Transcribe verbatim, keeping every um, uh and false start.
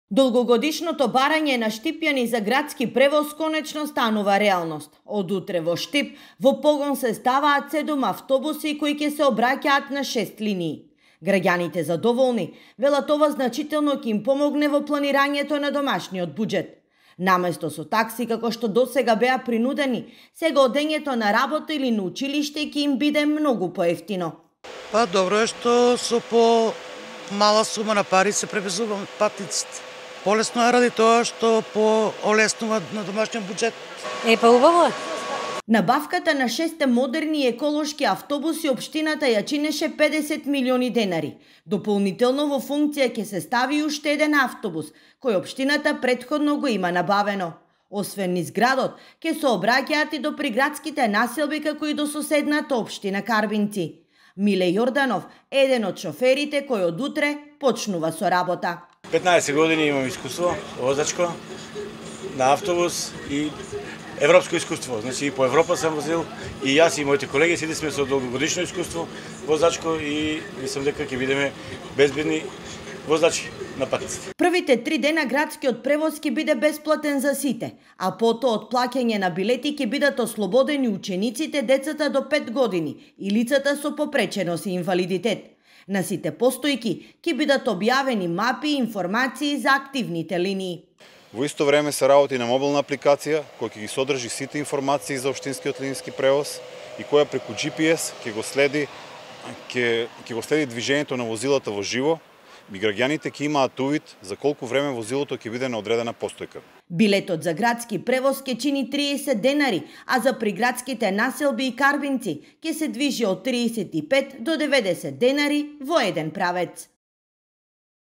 Долгогодишното барање на Штипјани за градски превоз конечно станува реалност. Од утре во Штип во погон се ставаат седум автобуси кои ќе се обраќаат на шест линии. Граѓаните задоволни велат ова значително ќе им помогне во планирањето на домашниот буџет. Наместо со такси како што досега беа принудени, сега одењето на работа или на училиште ќе им биде многу поевтино. Па добро е што со по мала сума на пари се превезуваат патниците. Полесно е ради тоа што поолеснува на домашниот буџет. Е, па убаво. Набавката на шесте модерни еколошки автобуси општината ја чинеше педесет милиони денари. Дополнително во функција ќе се стави уште еден автобус, кој општината претходно го има набавено. Освен низ градот, ќе се обраќаат и до приградските населби како и до соседната општина Карбинци. Миле Јорданов, еден од шоферите кој од утре почнува со работа. петнаесет години имам искуство возачко на автобус и европско искуство. Значи и по Европа сам возил и јас и моите колеги сите сме со долгогодишно искуство возачко и мислам дека ќе бидеме безбедни возачи на патниците. Првите три дена градскиот превоз ќе биде бесплатен за сите, а потоа од плаќање на билети ќе бидат ослободени учениците, децата до пет години и лицата со попреченост и инвалидитет. На сите постојки ќе бидат објавени мапи и информации за активните линии. Во исто време се работи на мобилна апликација која ќе ги содржи сите информации за општинскиот линиски превоз и која преку џи пи ес ќе го следи ќе ќе го следи движењето на возилата во живо. И граѓаните ќе имаат увид за колку време возилото ќе биде на одредена постојка. Билетот за градски превоз ќе чини триесет денари, а за приградските населби и Карбинци ќе се движи од триесет и пет до деветдесет денари во еден правец.